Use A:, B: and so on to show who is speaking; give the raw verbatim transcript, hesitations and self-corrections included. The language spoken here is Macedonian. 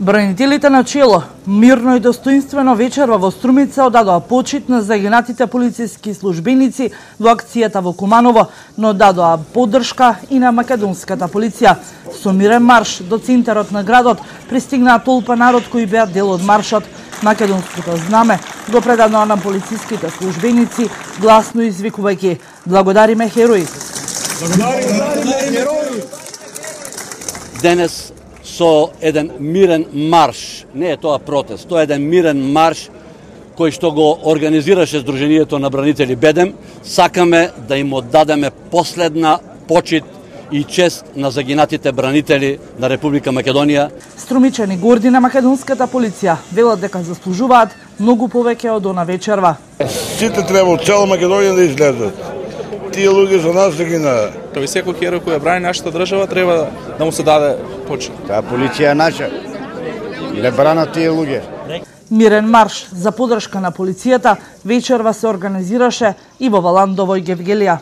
A: Бранителите на чело мирно и достоинствено вечерва во Струмица одадоа почит на загинатите полициски службеници во акцијата во Куманово, но дадоа поддршка и на македонската полиција. Со мирен марш до центарот на градот пристигнаа толпа народ кои беа дел од маршот. Македонското знаме го предадоа на полициските службеници, гласно извикувајќи: "Благодариме херои!"
B: Денес со еден мирен марш, не е тоа протест, тоа е еден мирен марш кој што го организираше Сдруженијето на бранители Бедем, сакаме да им оддадеме последна почит и чест на загинатите бранители на Република Македонија.
A: Струмичани горди на македонската полиција велат дека заслужуваат многу повеќе од она вечерва.
C: Сите треба од цела Македонија да излезат. Тие луѓе за нас да ги на.
D: Кај секој херој кој ја брани нашата држава треба да му се даде почит.
E: Таа полиција е наша. Не бранат тие луѓе.
A: Мирен марш за поддршка на полицијата вечерва се организираше и во Валандово и Гевгелија.